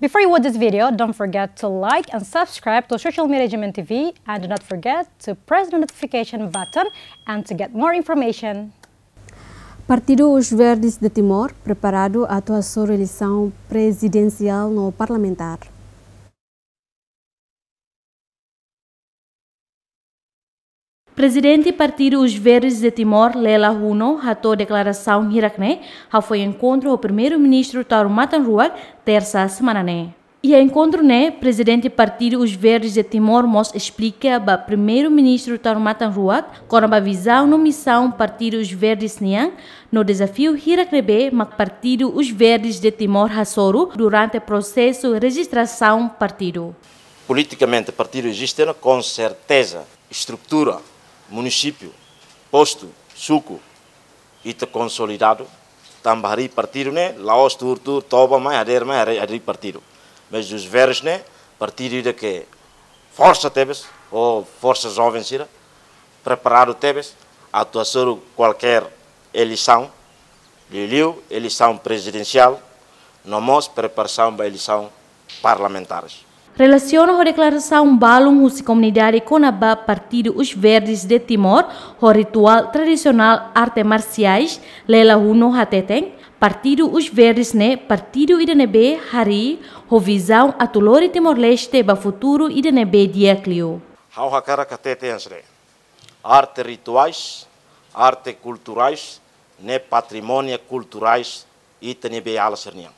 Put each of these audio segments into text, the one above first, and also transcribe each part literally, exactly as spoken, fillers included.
Before you watch this video, don't forget to like and subscribe to social media G M N T V, and do not forget to press the notification button and to get more information. Partidu Os Verdes de Timor preparadu atu hasoru eleisaun prezidensiál no parlamentár. Prezidente Partidu Os Verdes de Timor, Leila Huno, hato'o deklarasaun hirak ne'e hafoin enkontru ho Primeiru-Ministru Taur Matan Ruak, tersa semana ne'e. Iha enkontru ne'e, Prezidente Partidu Os Verdes de Timor mós esplika ba Primeiru-Ministru Taur Matan Ruak kona-ba vizaun no misaun Partidu Os Verdes nian, no dezafiu hirak ne'ebé mak Partidu Os Verdes de Timor hasoru durante prosesu rejistrasaun partidu. Politikamente, partidu eziste ona, com certeza, estrutura, munisípiu, postu, suku, ita konsolidadu, tanba harii partidu ne'e la'ós tuur-tuur toba mai, hadeer mai, harii, harii partidu. Mas Os Verdes ne'e partidu ida ke forsa tebes, ou forsa joven sira, preparadu tebes atu hasoru kualkér eleisaun, liuliu eleisaun prezidensiál, no mós preparasaun ba eleisaun parlamentares. Relasiona ho deklarasaun balun husi komunidade kona-ba Partidu Os Verdes de Timor ho rituál tradisionál arte marsiais, Leila Huno hateten, Partidu Os Verdes ne'e partidu ida ne'ebé harii ho vizaun atu lori Timor-Leste ba futuru ida ne'ebé di'ak liu. Ha'u hakarak hatete hanesan ne'e. Arte rituais, arte kulturais, ne'e patrimóniu kulturais ita-nia beiala sira-nian.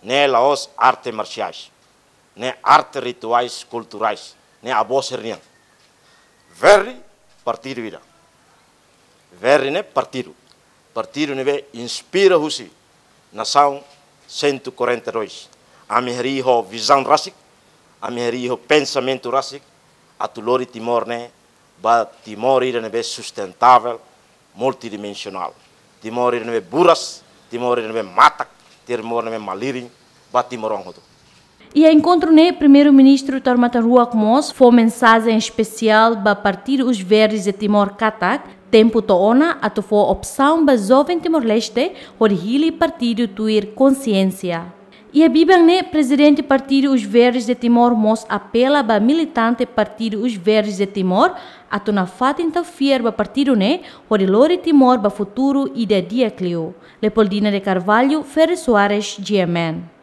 Ne'e la'ós arte marsiais, ne'e arte rituais kulturais, ne'e avó sira-nian. Verdi partidu ida. Verdi ne'e partidu. Partidu ne'ebé inspira husi nasaun cento e quarenta e dois. Ami harii ho vizaun rasik, ami harii ho pensamentu rasik, atu lori Timor ne'e ba Timor ida ne'ebé sustentável, multidimensionál. Timor ida ne'ebé buras, Timor ida ne'ebé matak, Timor ne'ebé malirin ba timoroan hotu. Iha enkontru ne'e, Primeiru-Ministru Taur Matan Ruak mós fó mensajen espesiál ba Partidu Os Verdes de Timor katak tempu to'o ona atu fó opsaun ba joven Timor-Leste hodi hili partidu tuir konsiénsia. Iha biban ne'e, Prezidente Partidu Os Verdes de Timor mós apela ba militante Partidu Os Verdes de Timor atu nafatin tau fiar ba partidu ne'e hodi lori Timor ba futuru ida di'ak liu. Leopoldina de Carvalho, Ferre Soares, G M N.